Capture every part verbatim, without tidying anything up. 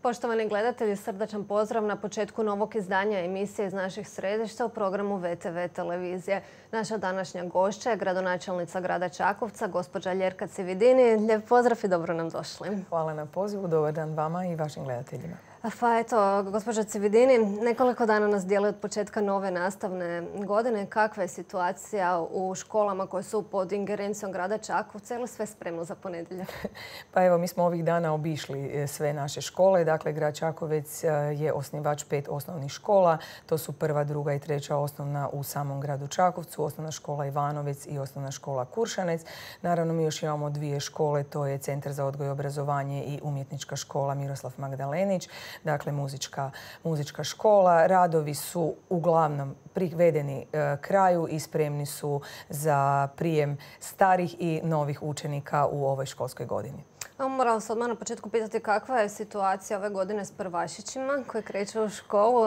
Poštovani gledatelji, srdačan pozdrav na početku novog izdanja emisije iz naših središta u programu V T V televizije. Naša današnja gošća je gradonačelnica grada Čakovca, gospođa Ljerka Cividini. Lijep pozdrav i dobro nam došli. Hvala na pozivu, dobar dan vama i vašim gledateljima. Pa eto, gospođa Cividini, nekoliko dana nas dijeli od početka nove nastavne godine. Kakva je situacija u školama koje su pod ingerencijom grada Čakovca? Je li sve spremno za ponedjeljak? Pa evo, mi smo ovih dana obišli sve naše škole. Dakle, grad Čakovec je osnivač pet osnovnih škola. To su prva, druga i treća osnovna u samom gradu Čakovcu, osnovna škola Ivanovec i osnovna škola Kuršanec. Naravno, mi još imamo dvije škole, to je Centar za odgoj i obrazovanje i umjetnička škola Miroslav Magdalenić. Dakle, muzička, muzička škola. Radovi su uglavnom privedeni e, kraju i spremni su za prijem starih i novih učenika u ovoj školskoj godini. Moram se odmah na početku pitati kakva je situacija ove godine s prvašićima koji kreću u školu.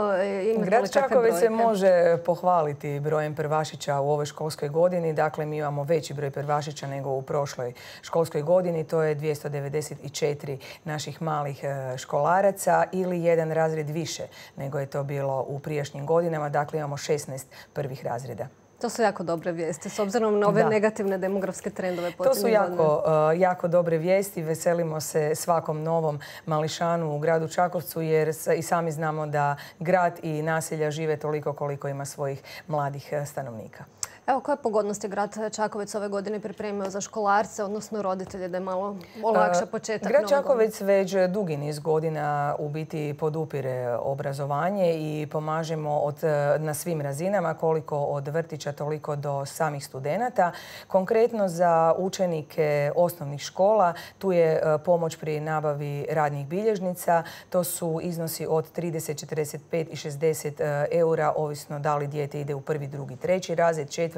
Grad Čakovec se može pohvaliti brojem prvašića u ovoj školskoj godini. Dakle, mi imamo veći broj prvašića nego u prošloj školskoj godini. To je dvjesto devedeset četiri naših malih školaraca ili jedan razred više nego je to bilo u prijašnjim godinama. Dakle, imamo šesnaest prvih razreda. To su jako dobre vijesti, s obzirom na ove da. negativne demografske trendove. To su jako, uh, jako dobre vijesti. Veselimo se svakom novom mališanu u gradu Čakovcu jer i sami znamo da grad i naselja žive toliko koliko ima svojih mladih stanovnika. Evo, koje pogodnosti grad Čakovec ove godine pripremio za školarce, odnosno roditelje, da je malo olakša početak? Grad Čakovec već dugi niz godina u biti podupire obrazovanje i pomažemo od, na svim razinama, koliko od vrtića, toliko do samih studenata. Konkretno za učenike osnovnih škola tu je pomoć pri nabavi radnih bilježnica. To su iznosi od trideset, četrdeset pet i šezdeset eura, ovisno da li dijete ide u prvi, drugi, treći razred, četvrti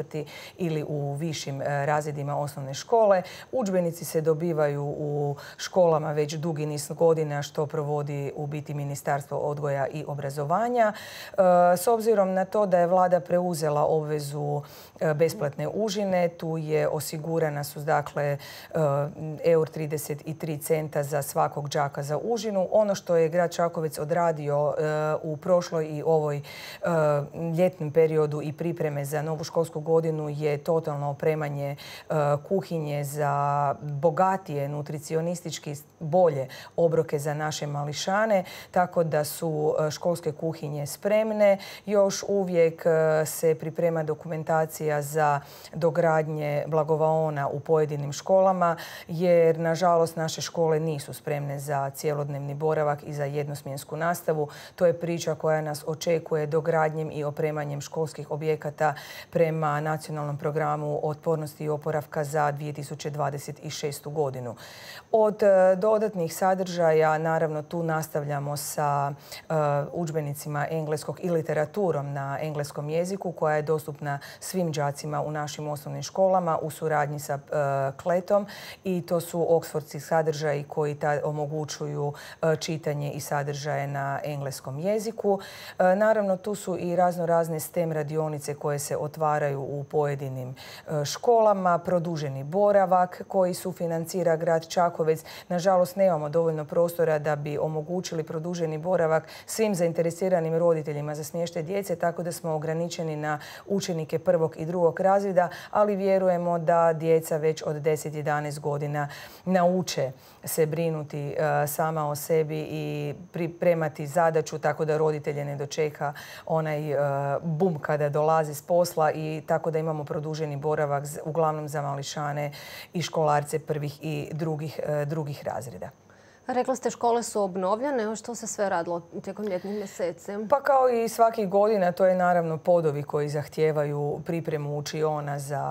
ili u višim razredima osnovne škole. Udžbenici se dobivaju u školama već dugi niz godina što provodi u biti Ministarstvo odgoja i obrazovanja. S obzirom na to da je vlada preuzela obvezu besplatne užine, tu je osigurana su dakle euro trideset tri centa za svakog đaka za užinu. Ono što je grad Čakovec odradio u prošloj i ovoj ljetnom periodu i pripreme za novu školsku godinu je totalno opremanje kuhinje za bogatije, nutricionistički bolje obroke za naše mališane, tako da su školske kuhinje spremne. Još uvijek se priprema dokumentacija za dogradnje blagovaona u pojedinim školama, jer nažalost naše škole nisu spremne za cjelodnevni boravak i za jednosmjensku nastavu. To je priča koja nas očekuje dogradnjem i opremanjem školskih objekata prema nacionalnom programu otpornosti i oporavka za dvije tisuće dvadeset šestu godinu. Od dodatnih sadržaja, naravno, tu nastavljamo sa uh, udžbenicima engleskog i literaturom na engleskom jeziku koja je dostupna svim đacima u našim osnovnim školama u suradnji sa uh, kletom i to su oksfordski sadržaji koji ta, omogućuju uh, čitanje i sadržaje na engleskom jeziku. Uh, naravno, tu su i razno razne STEM radionice koje se otvaraju u pojedinim uh, školama, produženi boravak koji sufinancira grad Čakovec. Nažalost, nemamo dovoljno prostora da bi omogućili produženi boravak svim zainteresiranim roditeljima za smještaj djece, tako da smo ograničeni na učenike prvog i drugog razreda, ali vjerujemo da djeca već od deset do jedanaest godina nauče se brinuti uh, sama o sebi i pripremati zadaću tako da roditelje ne dočeka onaj uh, bum kada dolazi s posla i tako da imamo produženi boravak uglavnom za mališane i školarce prvih i drugih, uh, drugih razreda. Rekla ste škole su obnovljene. Što se sve radilo tijekom ljetnih mjeseci? Pa kao i svakih godina, to je naravno podovi koji zahtijevaju pripremu učiona za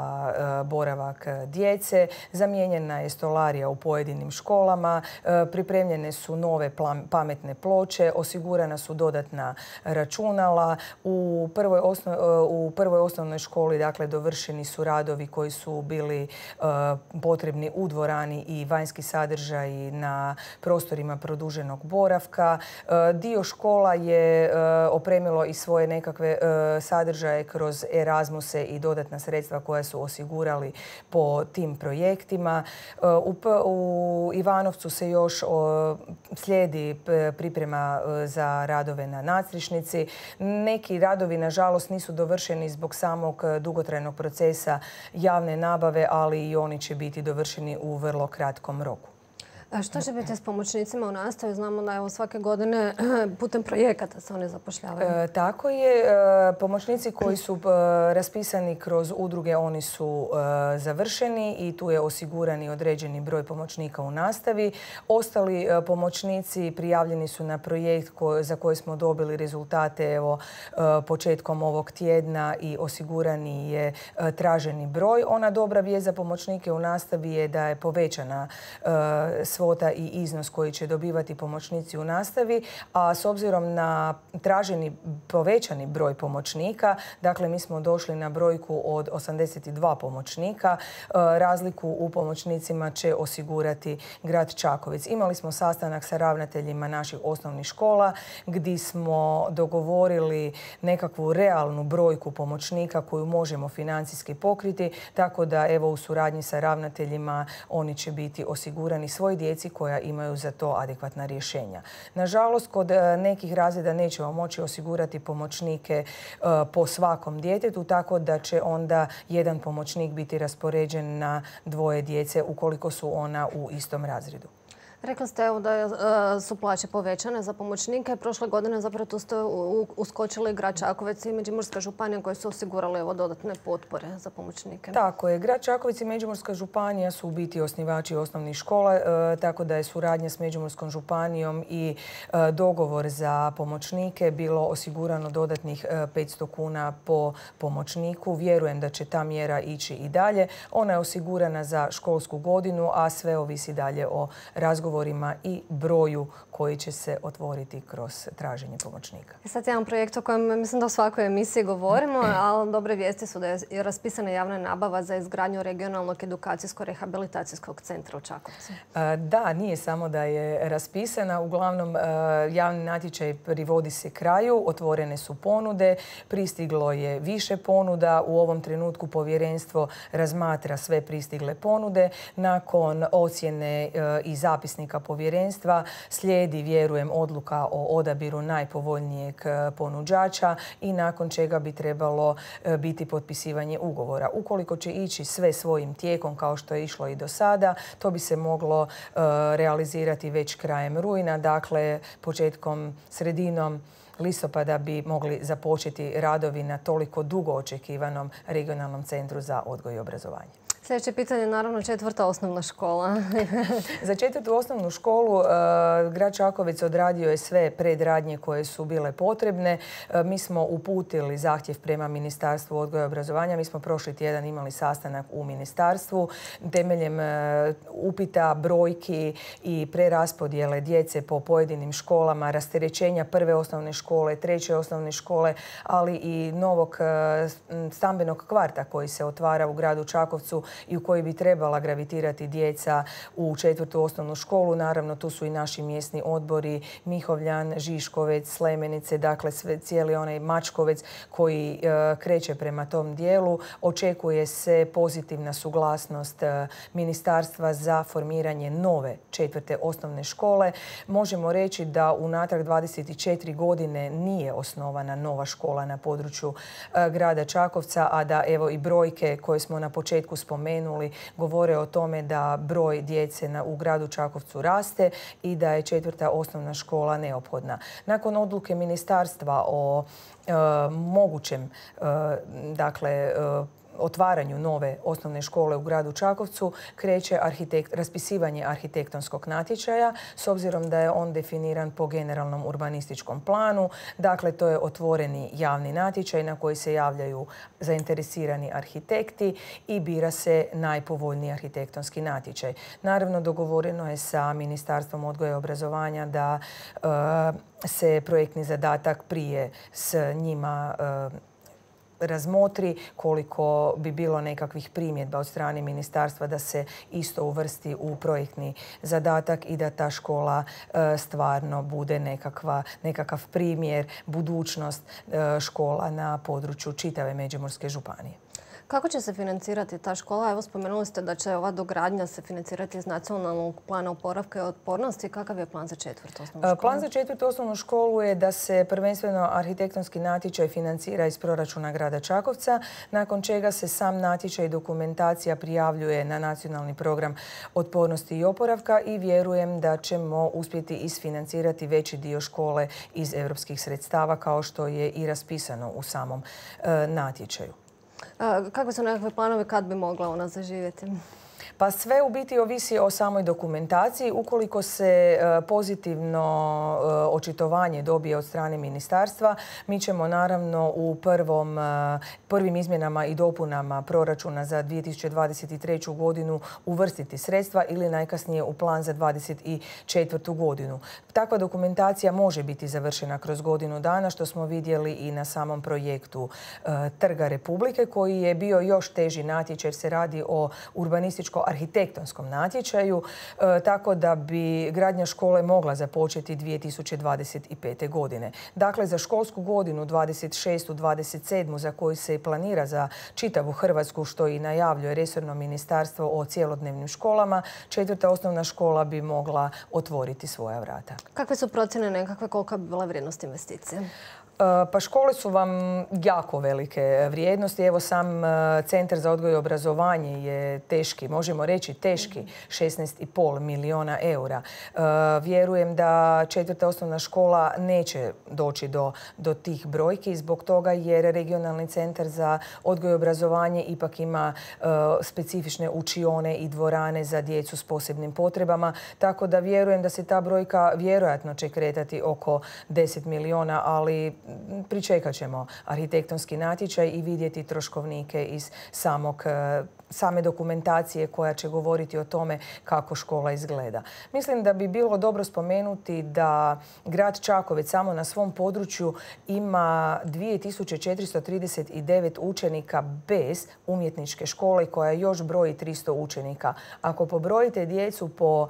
uh, boravak djece. Zamijenjena je stolarija u pojedinim školama. Uh, pripremljene su nove pametne ploče. Osigurana su dodatna računala. U prvoj, osnov, uh, u prvoj osnovnoj školi dakle, dovršeni su radovi koji su bili uh, potrebni u dvorani i vanjski sadržaji na prostorima produženog boravka. Dio škola je opremilo i svoje nekakve sadržaje kroz Erasmuse i dodatna sredstva koja su osigurali po tim projektima. U, u Ivanovcu se još slijedi priprema za radove na nadstrešnici. Neki radovi, nažalost, nisu dovršeni zbog samog dugotrajnog procesa javne nabave, ali i oni će biti dovršeni u vrlo kratkom roku. A što će biti s pomoćnicima u nastavi? Znamo da evo svake godine putem projekata se one zapošljavaju. E, tako je. E, pomoćnici koji su e, raspisani kroz udruge, oni su e, završeni i tu je osigurani određeni broj pomoćnika u nastavi. Ostali e, pomoćnici prijavljeni su na projekt ko, za koji smo dobili rezultate evo, e, početkom ovog tjedna i osigurani je e, traženi broj. Ona dobra vijest za pomoćnike u nastavi je da je povećana e, svota i iznos koji će dobivati pomoćnici u nastavi, a s obzirom na traženi povećani broj pomoćnika, dakle mi smo došli na brojku od osamdeset dva pomoćnika, razliku u pomoćnicima će osigurati grad Čakovec. Imali smo sastanak sa ravnateljima naših osnovnih škola gdje smo dogovorili nekakvu realnu brojku pomoćnika koju možemo financijski pokriti, tako da evo u suradnji sa ravnateljima oni će biti osigurani svoj djeci koja imaju za to adekvatna rješenja. Nažalost, kod nekih razreda nećemo moći osigurati pomoćnike po svakom djetetu, tako da će onda jedan pomoćnik biti raspoređen na dvoje djece ukoliko su ona u istom razredu. Rekli ste evo da su plaće povećane za pomoćnike. Prošle godine zapravo tu ste uskočili grad Čakovec i Međimurska županija koji su osigurali evo dodatne potpore za pomoćnike. Tako je. Grad Čakovec i Međimurska županija su u biti osnivači osnovnih škola, e, tako da je suradnja s Međimurskom županijom i e, dogovor za pomoćnike bilo osigurano dodatnih e, petsto kuna po pomoćniku. Vjerujem da će ta mjera ići i dalje. Ona je osigurana za školsku godinu, a sve ovisi dalje o razgovoru i broju koji će se otvoriti kroz traženje pomoćnika. Sad jedan projekt o kojem mislim da u svakoj emisiji govorimo, ali dobre vijesti su da je raspisana javna nabava za izgradnju regionalnog edukacijsko-rehabilitacijskog centra u Čakovcu. Da, nije samo da je raspisana. Uglavnom, javni natječaj privodi se kraju, otvorene su ponude, pristiglo je više ponuda. U ovom trenutku povjerenstvo razmatra sve pristigle ponude. Nakon ocjene i zapisnika povjerenstva slijedi, vjerujem, odluka o odabiru najpovoljnijeg ponuđača i nakon čega bi trebalo biti potpisivanje ugovora. Ukoliko će ići sve svojim tijekom kao što je išlo i do sada, to bi se moglo realizirati već krajem rujna, dakle početkom, sredinom listopada bi mogli započeti radovi na toliko dugo očekivanom regionalnom centru za odgoj i obrazovanje. Sljedeće pitanje je naravno četvrta osnovna škola. Za četvrtu osnovnu školu uh, grad Čakovec odradio je sve predradnje koje su bile potrebne. Uh, mi smo uputili zahtjev prema Ministarstvu odgoja i obrazovanja. Mi smo prošli tjedan imali sastanak u ministarstvu. Temeljem uh, upita, brojki i preraspodjele djece po pojedinim školama, rasterećenja prve osnovne škole, treće osnovne škole, ali i novog uh, stambenog kvarta koji se otvara u gradu Čakovcu i u koji bi trebala gravitirati djeca u četvrtu osnovnu školu. Naravno, tu su i naši mjesni odbori Mihovljan, Žiškovec, Slemenice, dakle sve, cijeli onaj Mačkovec koji e, kreće prema tom dijelu. Očekuje se pozitivna suglasnost e, ministarstva za formiranje nove četvrte osnovne škole. Možemo reći da unatrag dvadeset četiri godine nije osnovana nova škola na području e, grada Čakovca, a da evo i brojke koje smo na početku spomenuli govore o tome da broj djece na, u gradu Čakovcu raste i da je četvrta osnovna škola neophodna. Nakon odluke ministarstva o e, mogućem e, dakle, e, otvaranju nove osnovne škole u gradu Čakovcu kreće arhitekt, raspisivanje arhitektonskog natječaja s obzirom da je on definiran po generalnom urbanističkom planu. Dakle, to je otvoreni javni natječaj na koji se javljaju zainteresirani arhitekti i bira se najpovoljniji arhitektonski natječaj. Naravno, dogovoreno je sa Ministarstvom odgoja i obrazovanja da uh, se projektni zadatak prije s njima uh, razmotri, koliko bi bilo nekakvih primjedba od strane ministarstva da se isto uvrsti u projektni zadatak i da ta škola stvarno bude nekakva, nekakav primjer, budućnost škola na području čitave Međimurske županije. Kako će se financirati ta škola? Evo, spomenuli ste da će ova dogradnja se financirati iz Nacionalnog plana oporavka i otpornosti. Kakav je plan za četvrtu osnovnu školu? Plan za četvrtu osnovnu školu je da se prvenstveno arhitektonski natječaj financira iz proračuna grada Čakovca, nakon čega se sam natječaj i dokumentacija prijavljuje na Nacionalni program otpornosti i oporavka i vjerujem da ćemo uspjeti isfinancirati veći dio škole iz europskih sredstava kao što je i raspisano u samom natječaju. Kakve su nekakve planove kad bi mogla ona zaživjeti? Pa sve u biti ovisi o samoj dokumentaciji. Ukoliko se pozitivno očitovanje dobije od strane ministarstva, mi ćemo naravno u prvom, prvim izmjenama i dopunama proračuna za dvije tisuće dvadeset treću. godinu uvrstiti sredstva ili najkasnije u plan za dvadeset četvrtu. godinu. Takva dokumentacija može biti završena kroz godinu dana, što smo vidjeli i na samom projektu Trga Republike, koji je bio još teži natječaj jer se radi o urbanističko arhitektonskom natječaju, tako da bi gradnja škole mogla započeti dvije tisuće dvadeset pete. godine. Dakle, za školsku godinu dvadeset šestu dvadeset sedmu. za koju se i planira za čitavu Hrvatsku, što i najavljuje resorno ministarstvo o cjelodnevnim školama, četvrta osnovna škola bi mogla otvoriti svoja vrata. Kakve su procjene nekakve, kolika bi bila vrijednost investicije? Pa škole su vam jako velike vrijednosti. Evo sam Centar za odgoj i obrazovanje je teški, možemo reći teški, šesnaest i pol milijuna eura. Vjerujem da četvrta osnovna škola neće doći do, do tih brojki zbog toga jer Regionalni centar za odgoj i obrazovanje ipak ima specifične učione i dvorane za djecu s posebnim potrebama. Tako da vjerujem da se ta brojka vjerojatno će kretati oko deset milijuna, ali pričekat ćemo arhitektonski natječaj i vidjeti troškovnike iz samog same dokumentacije koja će govoriti o tome kako škola izgleda. Mislim da bi bilo dobro spomenuti da grad Čakovec samo na svom području ima dvije tisuće četiristo trideset devet učenika bez umjetničke škole koja još broji tristo učenika. Ako pobrojite djecu po uh,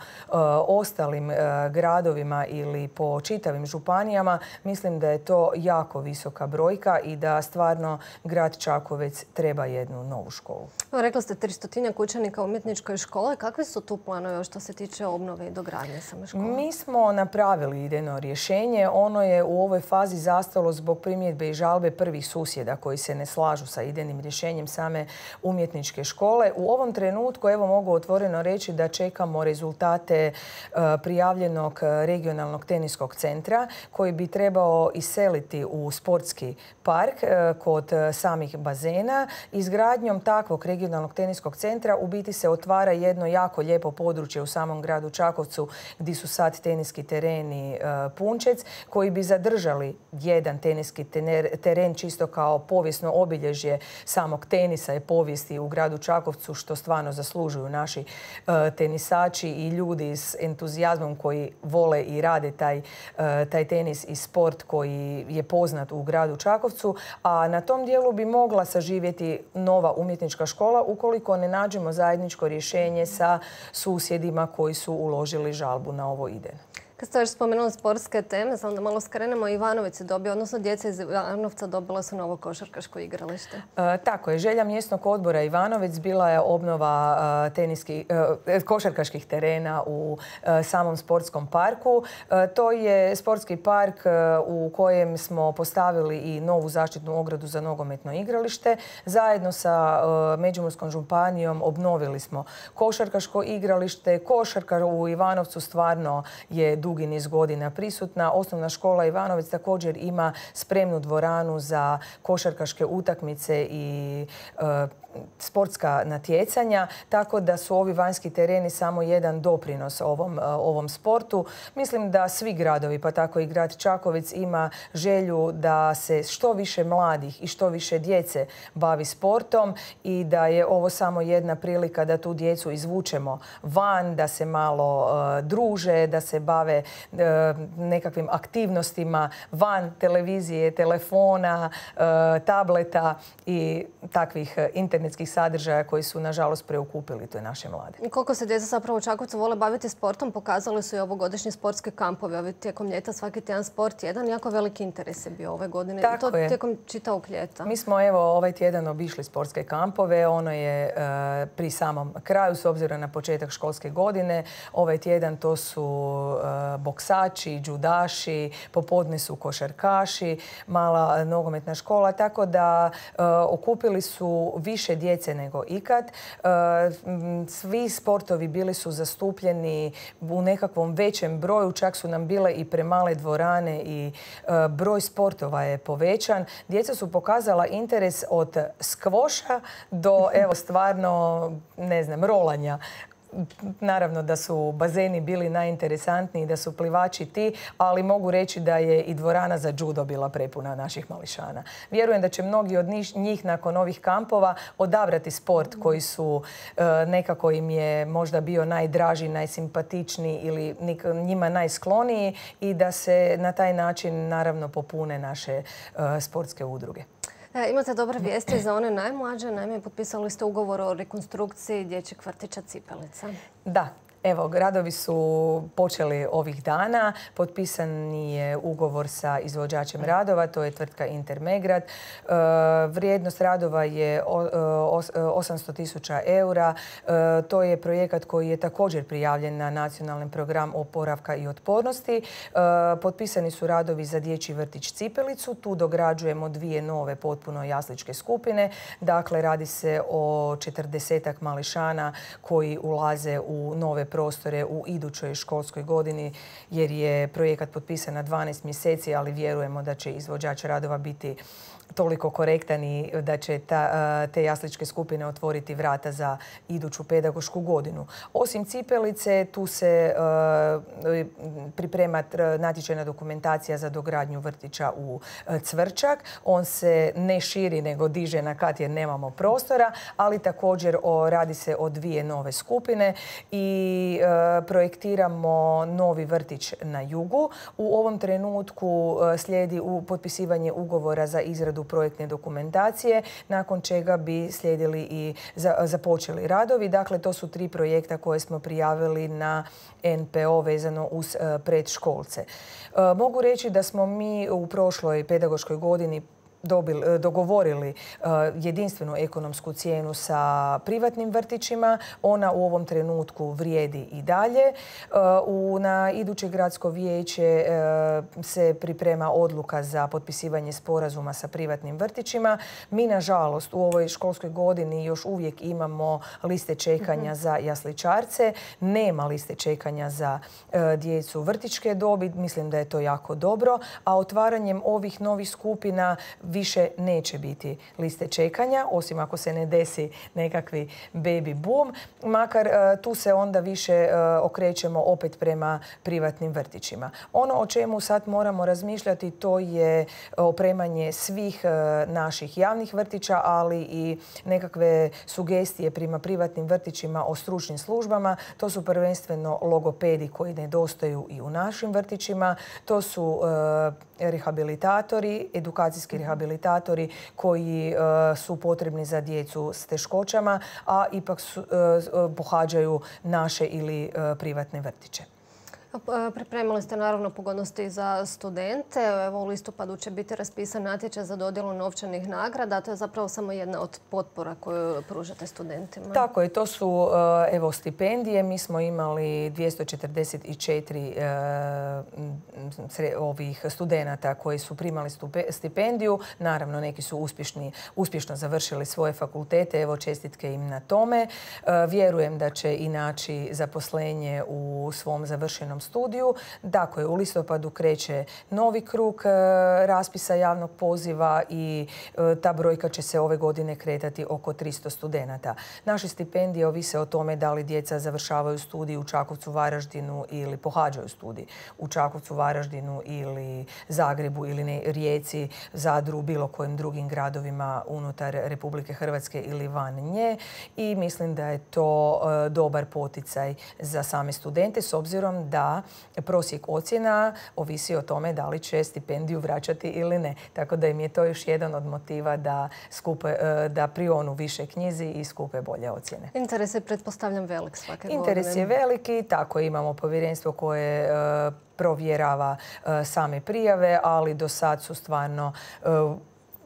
ostalim uh, gradovima ili po čitavim županijama, mislim da je to jako visoka brojka i da stvarno grad Čakovec treba jednu novu školu. Rekla ste tristotinjak učenika u umjetničkoj škole. Kakvi su tu planovi što se tiče obnove i dogradnje same škole? Mi smo napravili idejno rješenje. Ono je u ovoj fazi zastalo zbog primjedbe i žalbe prvih susjeda koji se ne slažu sa idejnim rješenjem same umjetničke škole. U ovom trenutku, evo mogu otvoreno reći da čekamo rezultate prijavljenog regionalnog teniskog centra koji bi trebao iseliti u sportski park kod samih bazena. Izgradnjom takvog regionalnog teniskog centra u biti se otvara jedno jako lijepo područje u samom gradu Čakovcu gdje su sad teniski tereni Punčec koji bi zadržali jedan teniski teren čisto kao povijesno obilježje samog tenisa i povijesti u gradu Čakovcu, što stvarno zaslužuju naši tenisači i ljudi s entuzijazmom koji vole i rade taj, taj tenis i sport koji je poznat u gradu Čakovcu, a na tom dijelu bi mogla saživjeti nova umjetnička škola ukoliko ne nađemo zajedničko rješenje sa susjedima koji su uložili žalbu na ovo idejno. Kad ste još spomenuli sportske teme, samo da malo skrenemo, Ivanović je dobio, odnosno djeca iz Ivanovca dobila su novo košarkaško igralište. E, tako je. Želja mjesnog odbora Ivanovec bila je obnova e, teniski, e, košarkaških terena u e, samom sportskom parku. E, to je sportski park e, u kojem smo postavili i novu zaštitnu ogradu za nogometno igralište. Zajedno sa e, Međimurskom županijom obnovili smo košarkaško igralište. Košarka u Ivanovcu stvarno je dugi niz godina prisutna. Osnovna škola Ivanovec također ima spremnu dvoranu za košarkaške utakmice i e, sportska natjecanja, tako da su ovi vanjski tereni samo jedan doprinos ovom, ovom sportu. Mislim da svi gradovi, pa tako i grad Čakovec, ima želju da se što više mladih i što više djece bavi sportom i da je ovo samo jedna prilika da tu djecu izvučemo van, da se malo uh, druže, da se bave uh, nekakvim aktivnostima van televizije, telefona, uh, tableta i takvih uh, internetskih sadržaja koji su nažalost preokupili to naše mlade. I koliko se djeca zapravo u Čakovcu vole baviti sportom, pokazali su i ovogodišnji sportski kampovi. Ovi tijekom ljeta svaki tjedan sport jedan, jako veliki interes je bio ove godine. Tako I to je. tijekom čitavog ljeta. Mi smo evo ovaj tjedan obišli sportske kampove. Ono je uh, pri samom kraju s obzirom na početak školske godine. Ovaj tjedan to su uh, boksači, džudaši, popodne su košarkaši, mala nogometna škola, tako da uh, okupili su više djece nego ikad. Uh, svi sportovi bili su zastupljeni u nekakvom većem broju, čak su nam bile i premale dvorane i uh, broj sportova je povećan. Djeca su pokazala interes od skvoša do evo stvarno, ne znam, rolanja. Naravno da su bazeni bili najinteresantniji, da su plivači ti, ali mogu reći da je i dvorana za judo bila prepuna naših mališana. Vjerujem da će mnogi od njih nakon ovih kampova odabrati sport koji su nekako im je možda bio najdraži, najsimpatičniji ili njima najskloniji i da se na taj način naravno popune naše sportske udruge. E, imate dobre vijesti za one najmlađe. Naime, potpisali ste ugovor o rekonstrukciji dječjeg vrtića Cipelica. Da. Evo, radovi su počeli ovih dana. Potpisan je ugovor sa izvođačem radova, to je tvrtka Intermegrad. E, vrijednost radova je osamsto tisuća eura. E, to je projekat koji je također prijavljen na Nacionalni program oporavka i otpornosti. E, potpisani su radovi za dječji vrtić Cipelicu. Tu dograđujemo dvije nove potpuno jasličke skupine. Dakle, radi se o četrdesetak mališana koji ulaze u nove prostore u idućoj školskoj godini jer je projekat potpisan na dvanaest mjeseci, ali vjerujemo da će izvođač radova biti toliko korektan i da će ta, te jasličke skupine otvoriti vrata za iduću pedagošku godinu. Osim Cipelice, tu se uh, priprema natječajna dokumentacija za dogradnju vrtića u Cvrčak. On se ne širi nego diže na kat jer nemamo prostora, ali također o, radi se o dvije nove skupine i uh, projektiramo novi vrtić na jugu. U ovom trenutku uh, slijedi u potpisivanje ugovora za izradu projektne dokumentacije, nakon čega bi slijedili i započeli radovi. Dakle, to su tri projekta koje smo prijavili na N P O vezano uz predškolce. Mogu reći da smo mi u prošloj pedagoškoj godini Dobili, dogovorili uh, jedinstvenu ekonomsku cijenu sa privatnim vrtićima. Ona u ovom trenutku vrijedi i dalje. Uh, u, na iduće gradsko vijeće uh, se priprema odluka za potpisivanje sporazuma sa privatnim vrtićima. Mi, nažalost, u ovoj školskoj godini još uvijek imamo liste čekanja mm-hmm. za jasličarce. Nema liste čekanja za uh, djecu vrtićke dobi. Mislim da je to jako dobro. A otvaranjem ovih novih skupina više neće biti liste čekanja, osim ako se ne desi nekakvi baby boom. Makar tu se onda više okrećemo opet prema privatnim vrtićima. Ono o čemu sad moramo razmišljati to je opremanje svih naših javnih vrtića, ali i nekakve sugestije prema privatnim vrtićima o stručnim službama. To su prvenstveno logopedi koji nedostaju i u našim vrtićima. To su rehabilitatori, edukacijski rehabilitatori koji uh, su potrebni za djecu s teškoćama, a ipak su, uh, pohađaju naše ili uh, privatne vrtiće. Pripremili ste naravno pogodnosti za studente. Evo, u listopadu će biti raspisan natječaj za dodjelu novčanih nagrada. To je zapravo samo jedna od potpora koju pružate studentima. Tako je. To su evo, stipendije. Mi smo imali dvjesto četrdeset četiri uh, ovih studenata koji su primali stipendiju. Naravno, neki su uspješni, uspješno završili svoje fakultete. Evo, čestitke im na tome. Uh, vjerujem da će i naći zaposlenje u svom završenom studiju. Dakle, u listopadu kreće novi krug raspisa javnog poziva i ta brojka će se ove godine kretati oko tristo studenata. Naše stipendije ovise o tome da li djeca završavaju studij u Čakovcu, Varaždinu ili pohađaju studij u Čakovcu, Varaždinu ili Zagrebu ili ne, Rijeci, Zadru, bilo kojim drugim gradovima unutar Republike Hrvatske ili van nje. I mislim da je to e, dobar poticaj za same studente s obzirom da prosjek ocjena ovisi o tome da li će stipendiju vraćati ili ne. Tako da im je to još jedan od motiva da, skupe, e, da prionu više knjizi i skupe bolje ocjene. Interes je, pretpostavljam, velik svake godine. Interes je veliki, tako imamo povjerenstvo koje e, provjerava e, same prijave, ali do sad su stvarno e,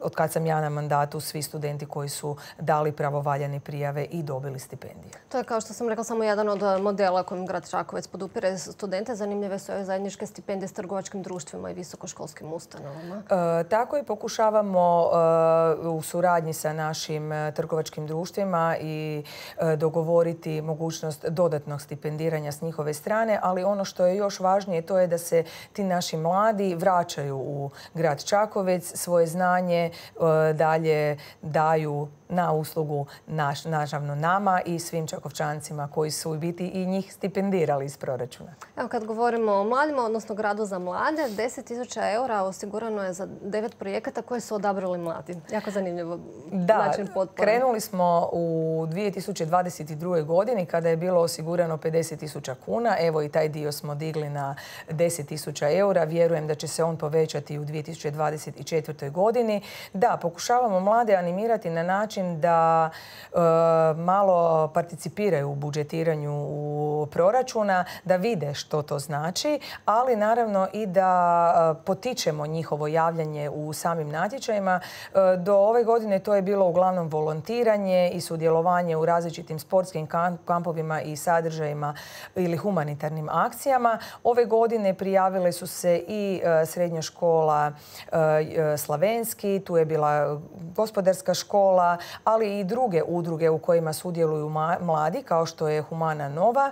od kad sam ja na mandatu, svi studenti koji su dali pravovaljane prijave i dobili stipendije. To je, kao što sam rekla, samo jedan od modela kojim grad Čakovec podupire studente. Zanimljive su ove zajedničke stipendije s trgovačkim društvima i visokoškolskim ustanovama. E, tako je, pokušavamo e, u suradnji sa našim trgovačkim društvima i e, dogovoriti mogućnost dodatnog stipendiranja s njihove strane, ali ono što je još važnije to je da se ti naši mladi vraćaju u grad Čakovec, svoje znanje dalje daju na uslugu naš, nažavno nama i svim Čakovčancima koji su u biti i njih stipendirali iz proračuna. Evo, kad govorimo o mladima, odnosno gradu za mlade, deset tisuća eura osigurano je za devet projekata koje su odabrali mladi. Jako zanimljivo način potpore. Krenuli smo u dvije tisuće dvadeset druge godini kada je bilo osigurano pedeset tisuća kuna. Evo i taj dio smo digli na deset tisuća eura. Vjerujem da će se on povećati u dvije tisuće dvadeset četvrtoj godini. Da, pokušavamo mlade animirati na način da e, malo participiraju u budžetiranju u proračuna, da vide što to znači, ali naravno i da potičemo njihovo javljanje u samim natječajima. E, do ove godine to je bilo uglavnom volontiranje i sudjelovanje u različitim sportskim kampovima i sadržajima ili humanitarnim akcijama. Ove godine prijavile su se i e, srednja škola e, Slavenski, tu je bila gospodarska škola, ali i druge udruge u kojima sudjeluju mladi, kao što je Humana Nova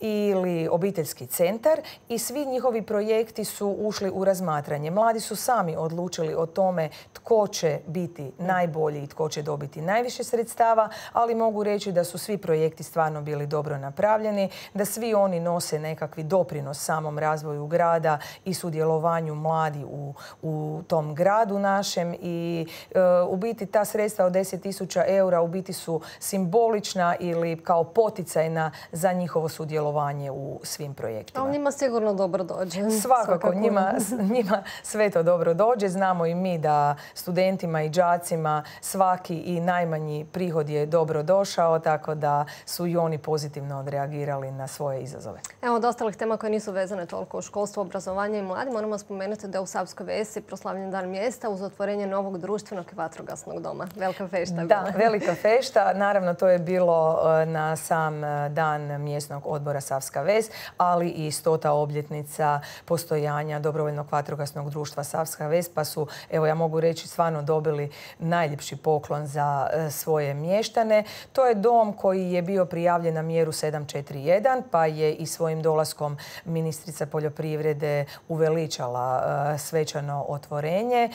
ili Obiteljski centar, i svi njihovi projekti su ušli u razmatranje. Mladi su sami odlučili o tome tko će biti najbolji i tko će dobiti najviše sredstava, ali mogu reći da su svi projekti stvarno bili dobro napravljeni, da svi oni nose nekakvi doprinos samom razvoju grada i sudjelovanju mladi u, u tom gradu našem i e, u biti ta sredstva od deset tisuća eura u biti su simbolična ili kao poticajna za njihovo sudjelovanje u svim projektima. Ali njima sigurno dobro dođe. Svakako, Svakako. Njima, njima sve to dobro dođe. Znamo i mi da studentima i đacima svaki i najmanji prihod je dobro došao, tako da su i oni pozitivno odreagirali na svoje izazove. Evo, od ostalih tema koje nisu vezane toliko u školstvo, obrazovanje i mladi, moramo spomenuti da u Savskoj Vesi proslavljen dan mjesta uz otvorenje novog društvenog i vatrogasnog doma. Velika fešta je bila. Da, velika fešta. Naravno, to je bilo na sam dan mjesnog odbora Savska Ves, ali i stota obljetnica postojanja dobrovoljnog vatrogasnog društva Savska Ves, pa su, evo ja mogu reći, stvarno dobili najljepši poklon za svoje mještane. To je dom koji je bio prijavljen na mjeru sedam četiri jedan, pa je i svojim dolaskom ministrica poljoprivrede uveličala svečano otvorenje.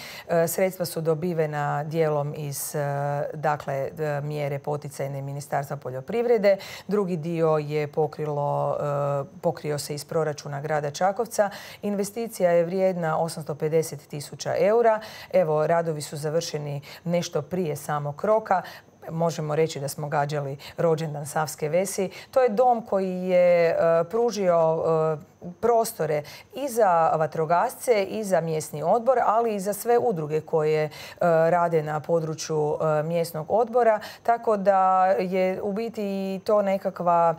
Sredstva su dobivena dijelom iz dakle, mjere poticajne Ministarstva poljoprivrede. Drugi dio je pokrilo, pokrio se iz proračuna grada Čakovca. Investicija je vrijedna osamsto pedeset tisuća eura. Evo, radovi su završeni nešto prije samog roka. Možemo reći da smo gađali rođendan Savske Vesi. To je dom koji je uh, pružio uh, prostore i za vatrogasce i za mjesni odbor, ali i za sve udruge koje uh, rade na području uh, mjesnog odbora. Tako da je u biti i to nekakva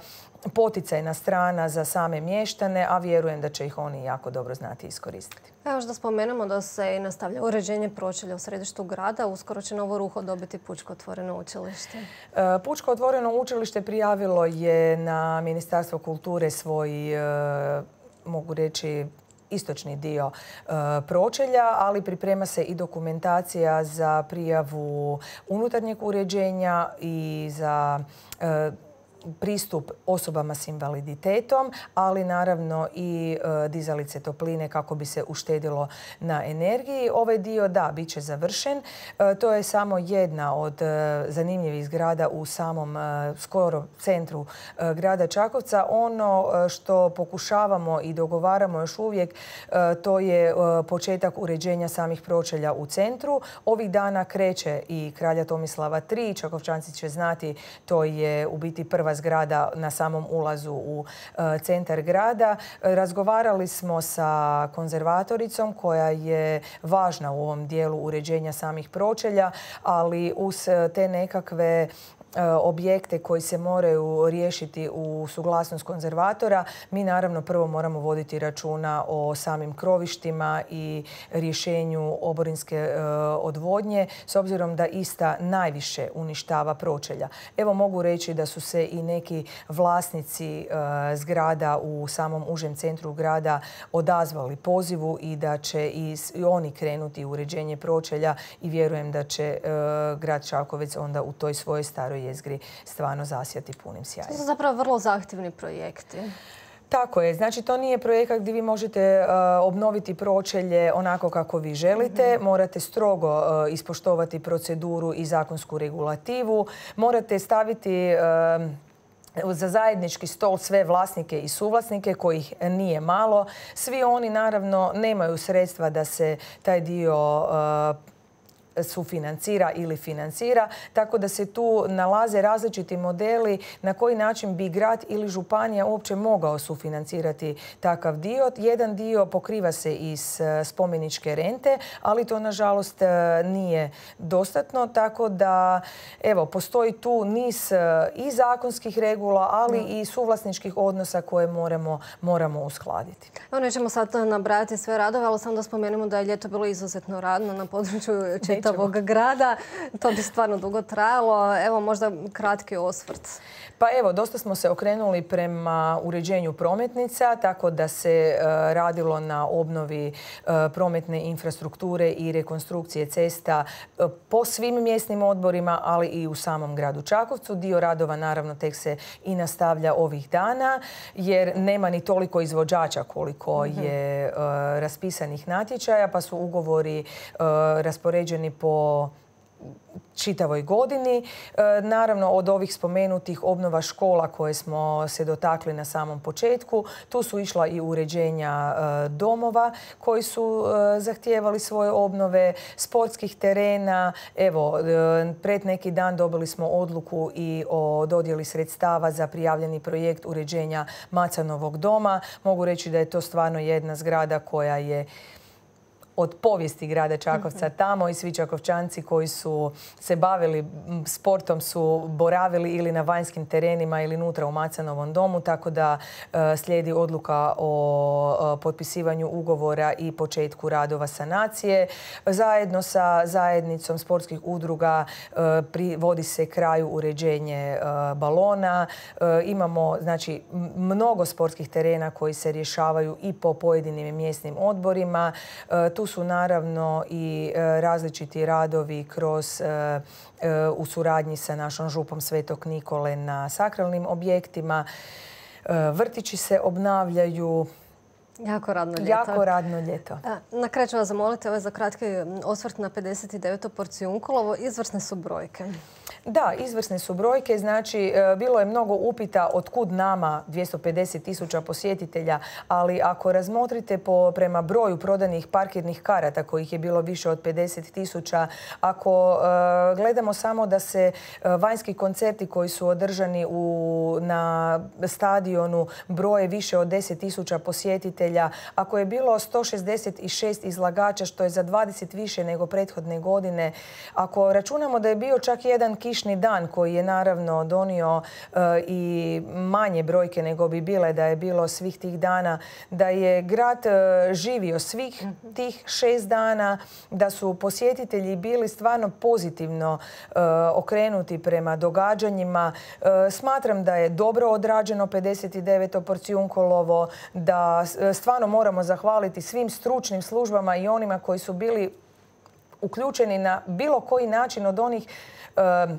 poticajna strana za same mještane, a vjerujem da će ih oni jako dobro znati iskoristiti. Evo još da spomenemo da se i nastavlja uređenje pročelja u središtu grada. Uskoro će novo ruho dobiti Pučko otvoreno učilište. Pučko otvoreno učilište prijavilo je na Ministarstvo kulture svoj, mogu reći, istočni dio e, pročelja, ali priprema se i dokumentacija za prijavu unutarnjeg uređenja i za e, pristup osobama s invaliditetom, ali naravno i dizalice topline kako bi se uštedilo na energiji. Ovaj dio, da, bit će završen. To je samo jedna od zanimljivih zgrada u samom skoro centru grada Čakovca. Ono što pokušavamo i dogovaramo još uvijek, to je početak uređenja samih pročelja u centru. Ovih dana kreće i Kralja Tomislava tri. Čakovčanci će znati, to je u biti prva zgrada na samom ulazu u centar grada. Razgovarali smo sa konzervatoricom koja je važna u ovom dijelu uređenja samih pročelja, ali uz te nekakve objekte koji se moraju riješiti u suglasnost konzervatora, mi naravno prvo moramo voditi računa o samim krovištima i rješenju oborinske odvodnje, s obzirom da ista najviše uništava pročelja. Evo, mogu reći da su se i neki vlasnici zgrada u samom užem centru grada odazvali pozivu i da će i oni krenuti u uređenje pročelja i vjerujem da će grad Čakovec onda u toj svojoj staroj jezgri stvarno zasjati punim sjajem. To su zapravo vrlo zahtjevni projekti. Tako je. Znači, to nije projekat gdje vi možete uh, obnoviti pročelje onako kako vi želite. Mm-hmm. Morate strogo uh, ispoštovati proceduru i zakonsku regulativu. Morate staviti uh, za zajednički stol sve vlasnike i suvlasnike, kojih nije malo. Svi oni naravno nemaju sredstva da se taj dio uh, sufinancira ili financira, tako da se tu nalaze različiti modeli na koji način bi grad ili županija uopće mogao sufinancirati takav dio. Jedan dio pokriva se iz spomeničke rente, ali to nažalost nije dostatno, tako da evo, postoji tu niz i zakonskih regula, ali i suvlasničkih odnosa koje moramo, moramo uskladiti. Evo, nećemo sad nabrajati sve radove, ali samo da spomenemo da je ljeto bilo izuzetno radno na području čitavog grada. To bi stvarno dugo trajalo. Evo, možda kratki osvrt. Pa evo, dosta smo se okrenuli prema uređenju prometnica, tako da se uh, radilo na obnovi uh, prometne infrastrukture i rekonstrukcije cesta uh, po svim mjesnim odborima, ali i u samom gradu Čakovcu. Dio radova naravno tek se i nastavlja ovih dana, jer nema ni toliko izvođača koliko mm-hmm. je uh, raspisanih natječaja, pa su ugovori uh, raspoređeni po čitavoj godini. E, naravno, od ovih spomenutih obnova škola koje smo se dotakli na samom početku, tu su išla i uređenja e, domova koji su e, zahtijevali svoje obnove, sportskih terena. Evo, e, pred neki dan dobili smo odluku i o dodjeli sredstava za prijavljeni projekt uređenja Macanovog doma. Mogu reći da je to stvarno jedna zgrada koja je od povijesti grada Čakovca tamo i svi Čakovčanci koji su se bavili sportom su boravili ili na vanjskim terenima ili unutra u Macanovom domu, tako da slijedi odluka o potpisivanju ugovora i početku radova sanacije. Zajedno sa zajednicom sportskih udruga privodi se kraju uređenje balona. Imamo, znači, mnogo sportskih terena koji se rješavaju i po pojedinim mjesnim odborima. Tu su naravno i različiti radovi kroz u suradnji sa našom župom Svetog Nikole na sakralnim objektima. Vrtići se obnavljaju. Jako radno ljeto. Jako radno ljeto. Na kraju ću vas zamoliti ovaj za kratki osvrt na pedeset deveto Porcijunkolovo. Izvrsne su brojke. Da, izvrsne su brojke. Znači, bilo je mnogo upita otkud nama dvjesto pedeset tisuća posjetitelja, ali ako razmotrite po, prema broju prodanih parkirnih karata, kojih je bilo više od pedeset tisuća, ako uh, gledamo samo da se uh, vanjski koncerti koji su održani u, na stadionu broje više od deset tisuća posjetitelja, ako je bilo sto šezdeset šest izlagača, što je za dvadeset više nego prethodne godine, ako računamo da je bio čak jedan kišni dan koji je naravno donio uh, i manje brojke nego bi bile da je bilo svih tih dana, da je grad uh, živio svih tih šest dana, da su posjetitelji bili stvarno pozitivno uh, okrenuti prema događanjima. Uh, smatram da je dobro odrađeno pedeset deveto Porcijunkolovo, da stvarno moramo zahvaliti svim stručnim službama i onima koji su bili uključeni na bilo koji način od onih uh,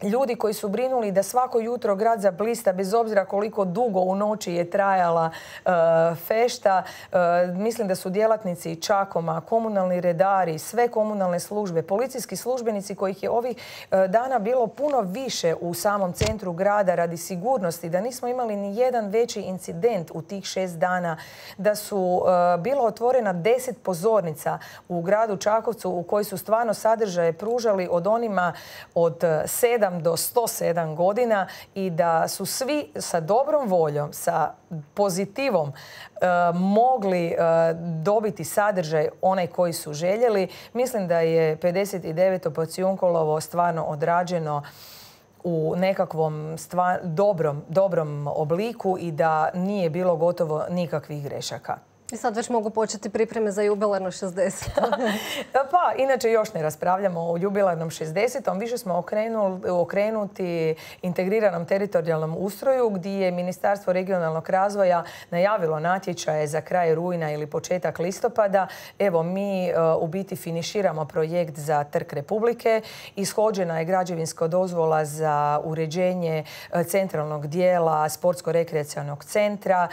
ljudi koji su brinuli da svako jutro grad zablista, bez obzira koliko dugo u noći je trajala e, fešta. E, mislim da su djelatnici Čakoma, komunalni redari, sve komunalne službe, policijski službenici kojih je ovih e, dana bilo puno više u samom centru grada radi sigurnosti, da nismo imali ni jedan veći incident u tih šest dana, da su e, bilo otvorena deset pozornica u gradu Čakovcu u koji su stvarno sadržaje pružali od onima od sedam do sto sedam godina i da su svi sa dobrom voljom, sa pozitivom e, mogli e, dobiti sadržaj onaj koji su željeli. Mislim da je pedeset deveto Pocijunkolovo stvarno odrađeno u nekakvom stvar, dobrom, dobrom obliku i da nije bilo gotovo nikakvih grešaka. I sad već mogu početi pripreme za jubilarno šezdeseto. Pa, inače još ne raspravljamo o jubilarnom šezdesetom. Više smo okrenuli, okrenuti integriranom teritorijalnom ustroju gdje je Ministarstvo regionalnog razvoja najavilo natječaje za kraj rujna ili početak listopada. Evo, mi u biti finiširamo projekt za Trg Republike. Ishođena je građevinska dozvola za uređenje centralnog dijela sportsko-rekreacionog centra.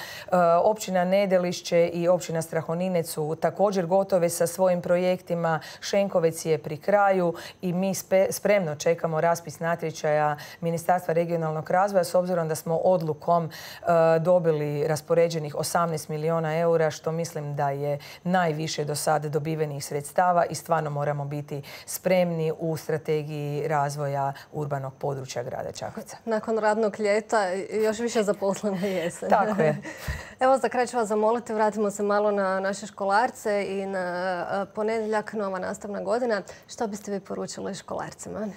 Općina Nedelišće i općina Strahoninec su također gotove sa svojim projektima. Šenkovec je pri kraju i mi spremno čekamo raspis natječaja Ministarstva regionalnog razvoja s obzirom da smo odlukom dobili raspoređenih osamnaest milijuna eura, što mislim da je najviše do sada dobivenih sredstava i stvarno moramo biti spremni u strategiji razvoja urbanog područja grada Čakovca. Nakon radnog ljeta još više zaposlena jesen. Tako je. Evo, za kraj ću vas zamoliti, vratimo se malo na naše školarce i na ponedjeljak, nova nastavna godina. Što biste vi poručili školarcima?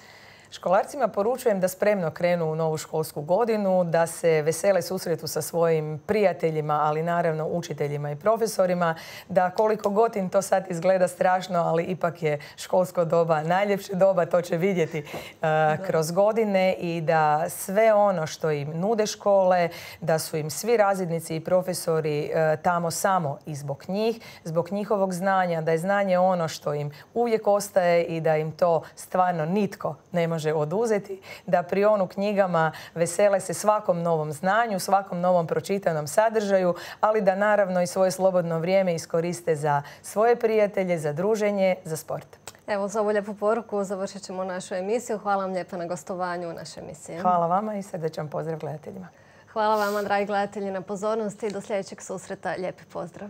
Školarcima poručujem da spremno krenu u novu školsku godinu, da se vesele susretu sa svojim prijateljima, ali naravno učiteljima i profesorima, da koliko god im to sad izgleda strašno, ali ipak je školsko doba najljepše doba, to će vidjeti uh, kroz godine i da sve ono što im nude škole, da su im svi razrednici i profesori uh, tamo samo i zbog njih, zbog njihovog znanja, da je znanje ono što im uvijek ostaje i da im to stvarno nitko ne može oduzeti, da prionu knjigama, vesele se svakom novom znanju, svakom novom pročitanom sadržaju, ali da naravno i svoje slobodno vrijeme iskoriste za svoje prijatelje, za druženje, za sport. Evo, za ovu lijepu poruku završit ćemo našu emisiju. Hvala vam lijepo na gostovanju u našoj emisiji. Hvala vama i srdečan pozdrav gledateljima. Hvala vama, dragi gledatelji, na pozornosti i do sljedećeg susreta. Lijepi pozdrav.